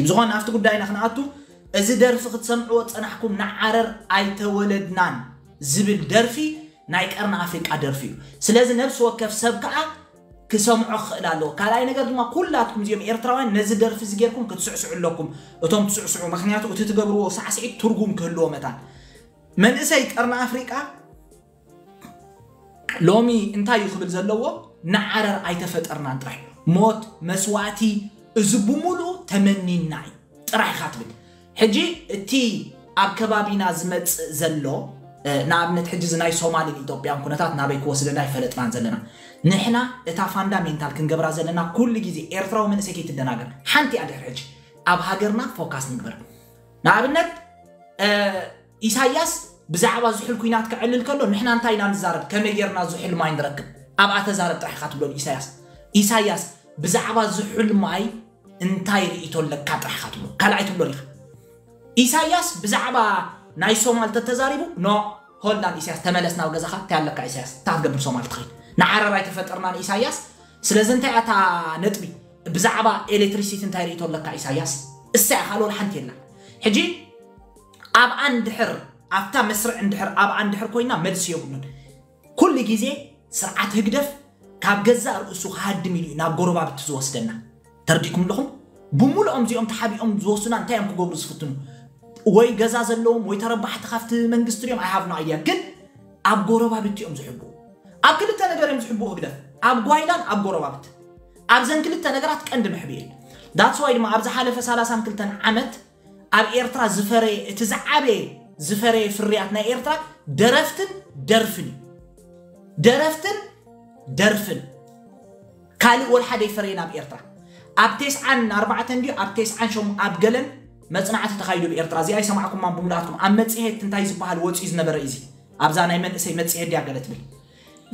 ብዝኾነ ኣብቲ ጉዳይና ክንኣቱ፣ እዚ ደርፊ ክትሰምዕዎ ጸናሕኩም፣ ንዓረር ኣይተወለድናን ዝብል ደርፊ ናይ ቀርኒ ኣፍሪቃ ደርፊ እዩ። ስለዚ ነብሲ ወከፍ ሰብ ከዓ ክሰምዖ ክኽእል ኣለዎ። ካልኣይ ነገር ድማ ኩላትኩም እዚኦም ኤርትራውያን ነዚ ደርፊ እዚ ጌርኩም ክትስዕስዑ ኣለኩም፣ እቶም ትስዕስዑ፣ ምክንያቱ እቲ ትገብርዎ ሳዕስዒት ትርጉም ክህልዎ መታን። መንእሰይ ቀርኒ ኣፍሪቃ ሎሚ እንታይ እዩ ክብል ዘለዎ? ንዓረር ኣይተፈጠርናን ጥራሕ፣ ሞት፣ መስዋእቲ፣ እዚ ብምሉኡ ተመኒና እዩ ጥራሕ ኢኻ ትብል። ሕጂ እቲ ኣብ ከባቢና ዝመጽእ ዘሎ ንኣብነት ሕጂ እዚ ናይ ሶማልን ኢትዮጵያን ኩነታት ናበይ ክወስደና ይፈለጥናን ዘለና። ንሕና እታ ፋንዳሜንታል ክንገብራ ዘለና ኩሉ ግዜ ኤርትራዊ መንእሰይ ከይትደናገር፣ ሓንቲ እያ ድሕሪ ሕጂ ኣብ ሃገርና ፎካስ ንግበር። ንኣብነት ኢሳያስ ብዛዕባ ዝሑል ኩናት ክዕልል ከሎ ንሕና እንታይ ኢና ንዛረብ? ከመይ ጌርና ዝሑል ማይ ንረክብ? ኣብኣ ተዛረብ ጥራሕ ኢኻ ትብሎ ኢሳያስ። ኢሳያስ ብዛዕባ ዝሑል ማይ እንታይ ርእይቶ ኣለካ ጥራሕ ኢኻ ትብሎ፣ ካልኣይ ትብሎ ኢኻ። ኢሳያስ ብዛዕባ ናይ ሶማል ተተዛሪቡ፣ ኖ፣ hold on ኢሳያስ፣ ተመለስ ናብ ገዛኻ። እንታይ ኣለካ ኢሳያስ? እንታይ ክትገብር ሶማል ትኸይድ? ንዓረር ኣይተፈጠርናን ኢሳያስ። ስለዚ እንታይ እያ እታ ነጥቢ? ብዛዕባ ኤሌክትሪሲቲ እንታይ ርእይቶ ኣለካ ኢሳያስ? እሳ እያ፣ ካልእ ሓንቲ የላ። ሕጂ ኣብኣ እንድሕር፣ ኣብታ መስርዕ እንድሕር፣ ኣብኣ እንድሕር ኮይና መልሲ የብሉን። ኩሉ ግዜ ስርዓት ህግደፍ ካብ ገዛእ ርእሱ ክሃድም ኢሉ እዩ ናብ ጎረባብቲ ዝወስደና። ተረዲእኩም ኣለኹም? ብምሉኦም እዚኦም ተሓቢኦም ዝወስዱና እንታይ እዮም ክገብሩ ዝፍትኑ? ወይ ገዛ ዘለዎም ወይ ተረባሕቲ ካብቲ መንግስቲ ድዮም? I have no idea። ግን ኣብ ጎረባብቲ እዮም ዝሕብኡ። ኣብ ክልተ ነገር እዮም ዝሕብኡ ህግደፍ፣ ኣብ ጓይላን ኣብ ጎረባብቲ። ኣብዘን ክልተ ነገራት ቀንዲ መሕብኢ። That's why ድማ ኣብ ዝሓለፈ ሰላሳን ክልተን ዓመት ኣብ ኤርትራ ዝፈረየ፣ እቲ ዝዓበየ ዝፈረየ ፍርያት ናይ ኤርትራ ደረፍትን ደርፍን እዩ። ደረፍትን ደርፍን። ካልእ ወላ ሓደ ይፈረየን ኣብ ኤርትራ። ኣብ ተስዓን ኣርባዕተን ድዩ ኣብ ተስዓን ሸሞንተን ኣብ ገለን መጽናዕቲ ተኻይዱ ብኤርትራ። እዚኣ ይሰማዕኩማ ብሙሉኣትኩም። ኣብ መጽሔት እንታይ ዝበሃል ወጺኡ ዝነበረ እዩ እዚ። ኣብዛ ናይ መንእሰይ መጽሔት ድያ ገለ ትብል።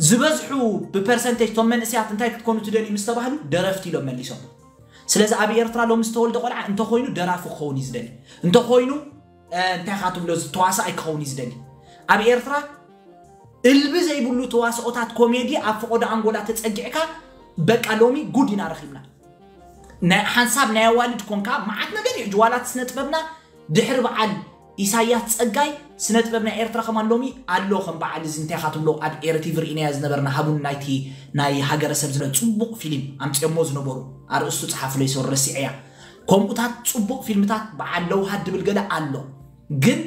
ዝበዝሑ ብፐርሰንቴጅ እቶም መንእሰያት እንታይ ክትኮኑ ትደልዩ ምስ ተባህሉ ደረፍቲ ኢሎም መሊሶም። ስለዚ ኣብ ኤርትራ ሎሚ ዝተወልደ ቆልዓ እንተኾይኑ ደራፊ ክኸውን እዩ ዝደሊ። እንተኾይኑ፣ እ፣ እንታይ ኢኻ ትብሎ፣ እዚ ተዋሳኣይ ክኸውን እዩ ዝደሊ። ኣብ ኤርትራ እልቢ ዘይብሉ ተዋስኦታት ኮሜዲ ኣብ ፈቐዶ ኣንጎላ ተጸጊዕካ፣ በቃ ሎሚ ጉድ ኢና ረኺብና። ናይ ሓንሳብ ናይ ኣዋልድ ኮንካ መዓት ነገር እዩ። ሕጂ ዋላ እቲ ስነ ጥበብና ድሕሪ በዓል ኢሳያስ ጸጋይ ስነ ጥበብ ናይ ኤርትራ ከማን ሎሚ ኣሎ። ከም በዓል እዚ እንታይ ኢኻ ትብሎ፣ ኣብ ኤረ ቲቪ ርኢናዮ ዝነበርና ሃቡን ናይቲ ናይ ሃገረሰብ ዝነ ጽቡቕ ፊልም ኣምጺኦሞ ዝነበሩ፣ ኣርእስቱ ጸሓፉለይ ሶሪ ረሲዐያ። ከምኡታት ጽቡቕ ፊልምታት በዓል ለውሃት ድብል ገለ ኣሎ። ግን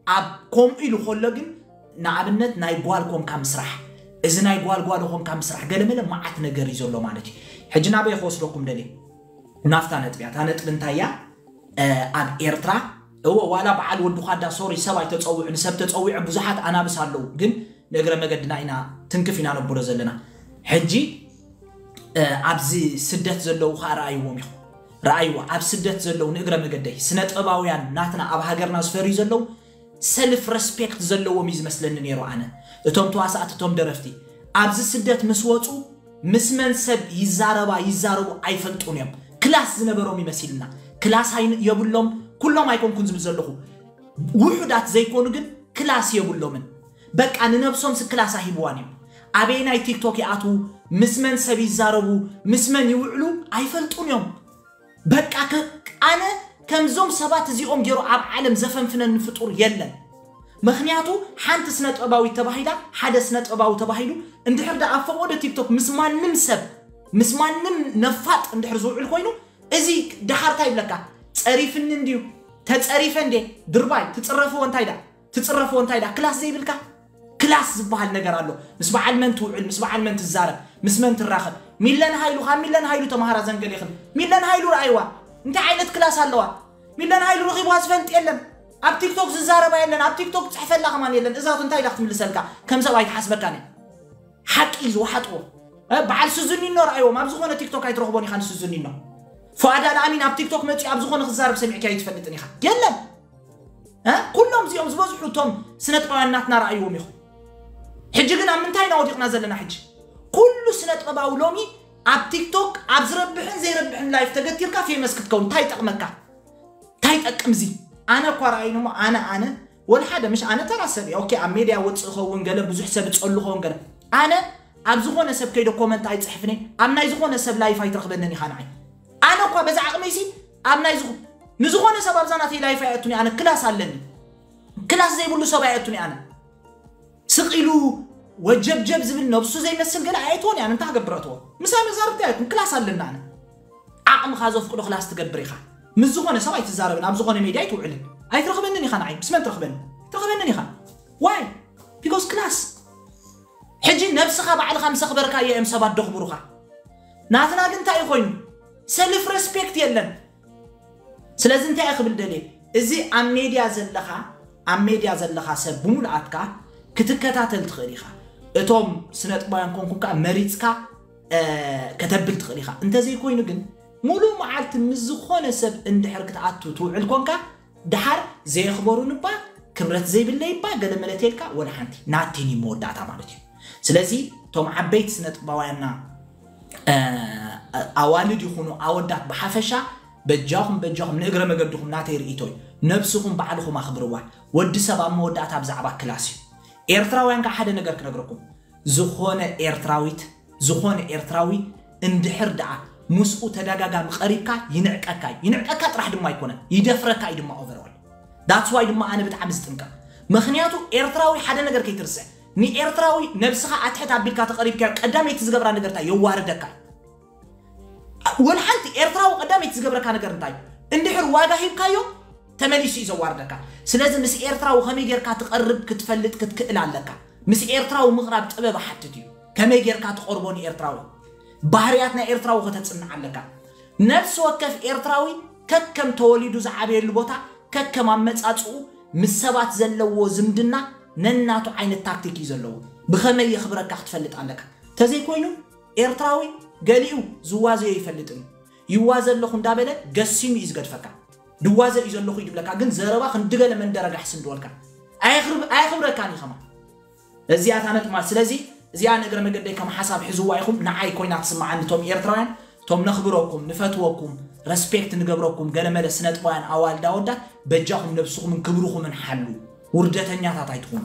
ኣብ ከምኡ ኢሉ ከሎ ግን ንኣብነት ናይ ጓል ኮንካ ምስራሕ፣ እዚ ናይ ጓል ጓል ኮንካ ምስራሕ ገለመለ መዓት ነገር እዩ ዘሎ ማለት እዩ። ሕጂ ናበይ ክወስደኩም ደልየ? ናፍታ ነጥቢ እያ። እታ ነጥቢ እንታይ እያ? እ፣ ኣብ ኤርትራ፣ እወ፣ ዋላ በዓል ወዲ ኳዳ፣ ሶሪ፣ ሰብ ኣይተጸውዑ፣ ንሰብ ተጸዊዑ ብዙሓት ኣናብስ ኣለዉ፣ ግን ንእግረ መገድና ኢና ትንክፍ ኢና ነብሎ ዘለና። ሕጂ፣ እ፣ ኣብዚ ስደት ዘለዉ ኸኣ ረኣይዎም ኢኹም። ረኣይዎ፣ ኣብ ስደት ዘለዉ ንእግረ መገደይ፣ ስነ ጥበባውያን ናትና ኣብ ሃገርና ዝፈርዩ ዘለዉ ሰልፍ ረስፔክት ዘለዎም እዩ ዝመስለኒ ነይሩ ኣነ። እቶም ተዋሳእቲ፣ እቶም ደረፍቲ፣ ኣብዚ ስደት ምስ ወጹ ምስ መን ሰብ ይዛረባ ይዛረቡ ኣይፈልጡን እዮም። ክላስ ዝነበሮም ይመሲልና። ክላስ ኣይን-፣ የብሎም፣ ኩሎም ኣይኮንኩን ዝብል ዘለኹ። ውሑዳት ዘይኮኑ ግን ክላስ የብሎምን። በቃ ንነብሶም ስ ክላስ ኣሂብዋን እዮም። ኣበየናይ ቲክቶክ ይኣትዉ፣ ምስ መን ሰብ ይዛረቡ፣ ምስ መን ይውዕሉ ኣይፈልጡን እዮም። በቃ ከ-፣ ኣነ ከምዞም ሰባት እዚኦም ገይሩ ኣብ ዓለም ዘፈንፍነኒ ፍጡር የለን። ምኽንያቱ ሓንቲ ስነ ጥበባዊት ተባሂላ፣ ሓደ ስነ ጥበባዊ ተባሂሉ፣ እንድሕር ደኣ ኣብ ፈቐዶ ቲክቶክ ምስ ማንም ሰብ፣ ምስ ማንም ነፋጥ እንድሕር ዝውዕል ኮይኑ፣ እዚ ደሓር እንታይ ይብለካ? ጸሪፍኒ እንድዩ፣ ተጸሪፈ እንዴ? ድርባይ፣ ትጽረፍዎ እንታይ ደኣ? ትጽረፍዎ እንታይ ደኣ? ክላስ ዘይብልካ? ክላስ ዝበሃል ነገር ኣሎ። ምስ በዓል መን ትውዕል፣ ምስ በዓል መን ትዛረብ፣ ምስ መን ትራኸብ። ሚለን ሃይሉ፣ ካብ ሚለን ሃይሉ ተማሃራ ዘንገሌኽን። ሚለን ሃይሉ ረኣይዋ። እንታይ ዓይነት ክላስ ኣለዋ? ሚለን ሃይሉ ረኺብዋ ዝፈልጥ የለን። ኣብ ቲክቶክ ዝዛረባ የለን፣ ኣብ ቲክቶክ ዝጽሕፈላ ከማን የለን። እዛ እንታይ ኢላ ክትምልሰልካ? ከም ሰብ ኣይትሓስበካን እያ። ሓቂ እዩ ዝወሓጥዎ። እ፣ በዓል ስዙኒኖ ረኣይዎም፣ ኣብ ዝኾነ ቲክቶክ ኣይትረኽቦን ኢኻ ንስዙኒኖ። ፉኣድ ኣልኣሚን ኣብ ቲክቶክ መጺኡ ኣብ ዝኾነ ክዛረብ ሰሚዕካዮ ኣይትፈልጥን ኢኻ። የለን። እ፣ ኩሎም እዚኦም ዝበዝሑ እቶም ስነ ጥበባውያን ናትና ረኣይዎም ኢኹም። ሕጂ ግን ኣብ ምንታይ ኢና ወዲቕና ዘለና? ሕጂ ኩሉ ስነ ጥበባዊ ሎሚ ኣብ ቲክቶክ ኣብ ዝረብሕን ዘይረብሕን ላይፍ ተገቲርካ ፌመስ ክትከውን እንታይ ይጠቕመካ? እንታይ ይጠቅም እዚ? ኣነ እኳ ረኣይኒ እሞ፣ ኣነ፣ ኣነ፣ ወላ ሓደ፣ ምሽ ኣነ ተራ ሰብ እየ። ኦኬ፣ ኣብ ሜድያ ወፅእ ኸውን ገለ፣ ብዙሕ ሰብ እፀሉ ኸውን ገለ። ኣነ ኣብ ዝኾነ ሰብ ከይደ ኮመንት ኣይፅሕፍን እየ። ኣብ ናይ ዝኾነ ሰብ ላይፍ ኣይትረኽበንን ኢኻ ንዓይ። ኣነ እኳ በዛ ዓቕመይሲ ኣብ ናይ ዝኾ-፣ ንዝኾነ ሰብ ኣብዛ ናተይ ላይፍ ኣየእቱኒ ኣነ ክላስ ኣለኒ ክላስ ዘይብሉ ሰብ ኣየእቱኒ ኣነ ስቕ ኢሉ ወጀብጀብ ዝብል ነብሱ ዘይመስል ገለ ኣየእትዎን እያን እንታይ ክገብር ኣትዎ ምሳይ መዛርብቲ ኣየእቱን ክላስ ኣለና ኣነ ዓቕምኻ ዘፍቅዶ ክላስ ትገብር ኢኻ ምስ ዝኾነ ሰብ ኣይትዛረብን ኣብ ዝኾነ ሜድያ ኣይትውዕልን ኣይትረኽበንን ኢኻ ንዓይ ምስ መን ትረኽበኒ ትረኽበንን ኢኻ ዋይ ቢኮዝ ክላስ ሕጂ ነብስኻ ባዕልኻ ምስ ኣኽበርካዮ እዮም ሰባት ደኽብሩኻ ናትና ግን እንታይ እዩ ኮይኑ ሰልፍ ሬስፔክት የለን ስለዚ እንታይ ክብል ደልየ እዚ ኣብ ሜድያ ዘለኻ ኣብ ሜድያ ዘለኻ ሰብ ብምሉኣትካ ክትከታተል ትኽእል ኢኻ እቶም ስነጥባውያን ኮንኩም ከዓ መሪፅካ ከተብል ትኽእል ኢኻ እንተዘይኮይኑ ግን ሙሉእ መዓልቲ ምስ ዝኾነ ሰብ እንድሕር ክትኣቱ ትውዕል ኮንካ ደሓር ዘየኽበሩን እባ ክብረት ዘይብለይ እባ ገለ መለተልካ ወላ ሓንቲ ናቲን እዩ መወዳእታ ማለት እዩ ስለዚ እቶም ዓበይቲ ስነጥባውያንና ኣዋልድ ይኹኑ ኣወዳት ብሓፈሻ በጃኹም በጃኹም ንእግረ መገድኹም ናተይ ርእይቶ እዩ ነብስኹም ባዕልኹም ኣኽብርዋ ወዲ ሰብ ኣብ መወዳእታ ብዛዕባ ክላስ እዩ ኤርትራውያን ከዓ ሓደ ነገር ክነግረኩም ዝኾነ ኤርትራዊት ዝኾነ ኤርትራዊ እንድሕር ደኣ ምስኡ ተደጋጋሚ ቀሪብካ ይንዕቀካ እዩ ይንዕቀካ ጥራሕ ድማ ኣይኮነን ይደፍረካ እዩ ድማ overall that's why ድማ ኣነ ብጣዕሚ ዝጥንቀቕ ምኽንያቱ ኤርትራዊ ሓደ ነገር ከይትርስዕ ንኤርትራዊ ነብስኻ ኣትሕት ኣቢልካ ተቐሪብካዮ ቀዳመይቲ ዝገብራ ነገር እንታይ የዋርደካ እዩ ወላ ሓንቲ ኤርትራዊ ቀዳመይቲ ዝገብረካ ነገር እንታይ እንድሕር ዋጋ ሂብካዮ ተመሊሱ እዩ ዘዋርደካ ስለዚ ምስ ኤርትራዊ ከመይ ጌርካ ትቐርብ ክትፈልጥ ክትክእል ኣለካ ምስ ኤርትራዊ ምቕራብ ጥበብ ሓትት እዩ ከመይ ጌርካ ትቐርቦ ንኤርትራዊ ባህርያት ናይ ኤርትራዊ ከተጽንዕ ኣለካ ነፍሲ ወከፍ ኤርትራዊ ከከም ተወሊዱ ዝዓበየሉ ቦታ ከከም ኣመጻጽኡ ምስ ሰባት ዘለዎ ዝምድና ነናቱ ዓይነት ታክቲክ እዩ ዘለዎ ብኸመይ የኽብረካ ክትፈልጥ ኣለካ ተዘይኮይኑ ኤርትራዊ ገሊኡ ዝዋዘዮ ይፈልጥን ይዋዘ ኣለኹ እንዳበለ ገሲሙ እዩ ዝገድፈካ ድዋዘ እዩ ዘለኹ ይድብለካ ግን ዘረባ ክንድገለ መንደረጋሕ ስንድወልካ ኣየኽብረካን እዩ ከማ እዚኣ እታ ነጥብ ማለት ስለዚ እዚኣ ንእግረ መገደይ ከም ሓሳብ ሕዝዋ ኢኹም ንዓይ ኮይና ትስምዓኒ እቶም ኤርትራውያን እቶም ነኽብረኩም ንፈትወኩም ረስፔክት ንገብረኩም ገለመለ ስነጥባውያን ኣዋልድ ኣወዳት በጃኹም ነብስኹምን ክብርኹምን ሓሉ ውርደተኛታት ኣይትኹኑ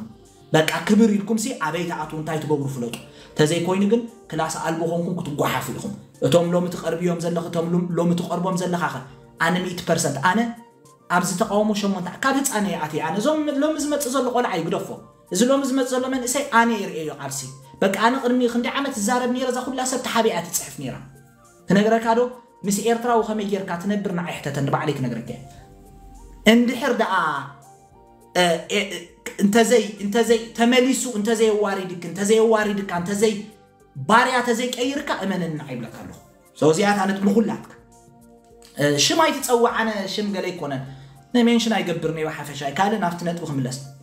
በቃ ክብር ኢልኩም ሲ ኣበይ ትኣትዉ እንታይ ትገብሩ ፍለጡ ተዘይኮይኑ ግን ክላስ ኣልቦ ኮንኩም ክትጓሓፉ ኢኹም እቶም ሎሚ ትቐርብዮም ዘለኺ እቶም ሎም- ሎሚ ትቐርቦም ዘለኻ ኸ ኣነ ሚእቲ ፐርሰንት ኣነ ኣብዚ ተቃውሞ ሸሞንተ ካብ ህፃነ ይኣትየ ኣነ እዞም ሎሚ ዝመፅእ ዘሎ ቆልዓ ይግደፎ እዚ ሎሚ ዝመፅእ ዘሎ መንእሰይ ኣነ ይርእዮ ቃልሲ በቃ ኣነ ቅድሚ ክንዲ ዓመት ዝዛረብ ነይረ እዛ ኩላ ሰብ ተሓቢኣ ትፅሕፍ ነይራ ክነግረካ ዶ ምስ ኤርትራዊ ከመይ ጌርካ ትነብር ንዓይ ሕተተኒ ባዕለይ ክነግረካ እየ። እንድሕር ደኣ እ፣ እ፣ እንተዘይ እንተዘይ ተመሊሱ እንተዘየዋሪድክ እንተዘየዋሪድካ እንተዘይ ባርያ ተዘይቀይርካ እመነኒ ንዓይ ይብለካ ኣለኹ። So እዚኣ እታ ነጥቢ ንኹላትካ እ፣ ሽም ኣይትፀውዕ ኣነ ሽም ገለ ኣይኮነን ንሜንሽን ኣይገብርን እየ ብሓፈሻ ካልእ ናብቲ ነጥቢ ክምለስ